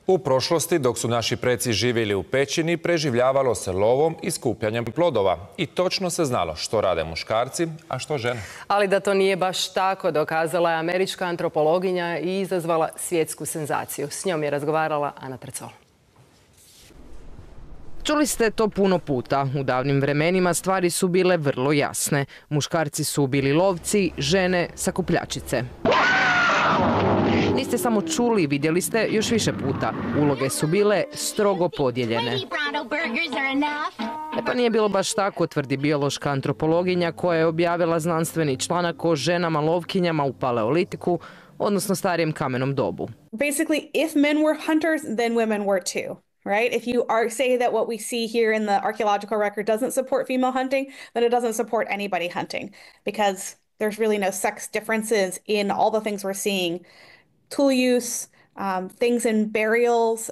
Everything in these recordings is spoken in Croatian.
U prošlosti, dok su naši preci živjeli u pećini, preživljavalo se lovom i skupljanjem plodova. I točno se znalo što rade muškarci, a što žene. Ali da to nije baš tako, dokazala je američka antropologinja i izazvala svjetsku senzaciju. S njom je razgovarala Ana Precol. Čuli ste to puno puta. U davnim vremenima stvari su bile vrlo jasne. Muškarci su bili lovci, žene sakupljačice. Niste samo čuli, vidjeli ste još više puta. Uloge su bile strogo podijeljene. Pa nije bilo baš tako, tvrdi biološka antropologinja koja je objavila znanstveni članak o ženama lovkinjama u paleolitiku, odnosno starijem kamenom dobu. Basically, if men were hunters, then women were too. Right? If you say that what we see here in the archaeological record doesn't support female hunting, then it doesn't support anybody hunting, because there's really no sex differences in all the things we're seeing. Tool use, things in burials,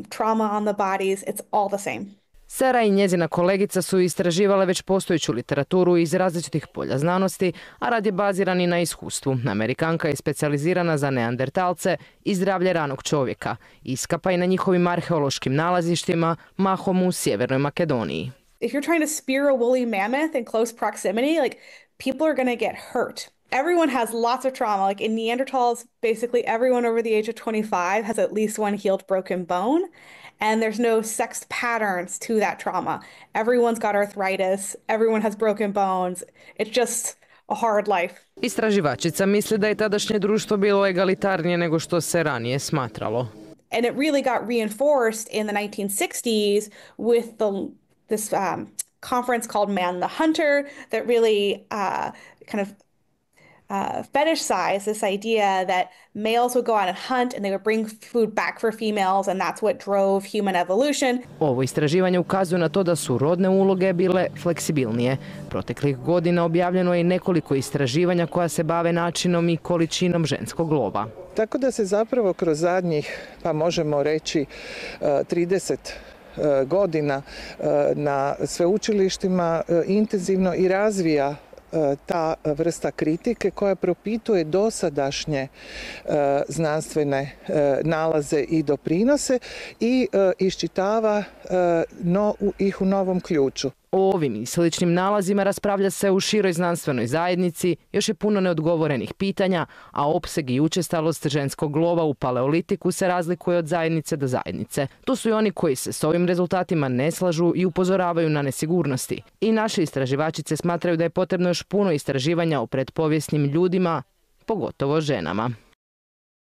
trauma on the bodies, it's all the same. Sarah i njezina kolegica su istraživale već postojeću literaturu iz različitih polja znanosti, a rad je baziran i na iskustvu. Amerikanka je specijalizirana za neandertalce i zdravlje ranog čovjeka. Iskapa i na njihovim arheološkim nalazištima, mahom u Sjevernoj Makedoniji. If you're trying to spear a woolly mammoth in close proximity, like, people are going to get hurt. Everyone has lots of trauma. Like in Neanderthals, basically everyone over the age of 25 has at least one healed broken bone. And there's no sex patterns to that trauma. Everyone's got arthritis. Everyone has broken bones. It's just a hard life. Istraživačica misli da je tadašnje društvo bilo egalitarnije nego što se ranije smatralo. And it really got reinforced in the 1960s with this conference called Man the Hunter that really kind of fetishized this idea that males would go out and hunt and they would bring food back for females, and that's what drove human evolution. Ovo istraživanje ukazuje na to da su rodne uloge bile fleksibilnije. Proteklih godina objavljeno je i nekoliko istraživanja koja se bave načinom i količinom ženskog lova. Tako da se zapravo kroz zadnjih, pa možemo reći, 30 godina na sveučilištima intenzivno i razvija ta vrsta kritike koja propituje dosadašnje znanstvene nalaze i doprinose i iščitava ih u novom ključu. O ovim i sličnim nalazima raspravlja se u široj znanstvenoj zajednici, još je puno neodgovorenih pitanja, a opseg i učestalost ženskog lova u paleolitiku se razlikuje od zajednice do zajednice. Tu su i oni koji se s ovim rezultatima ne slažu i upozoravaju na nesigurnosti. I naše istraživačice smatraju da je potrebno još puno istraživanja o pretpovijesnim ljudima, pogotovo ženama.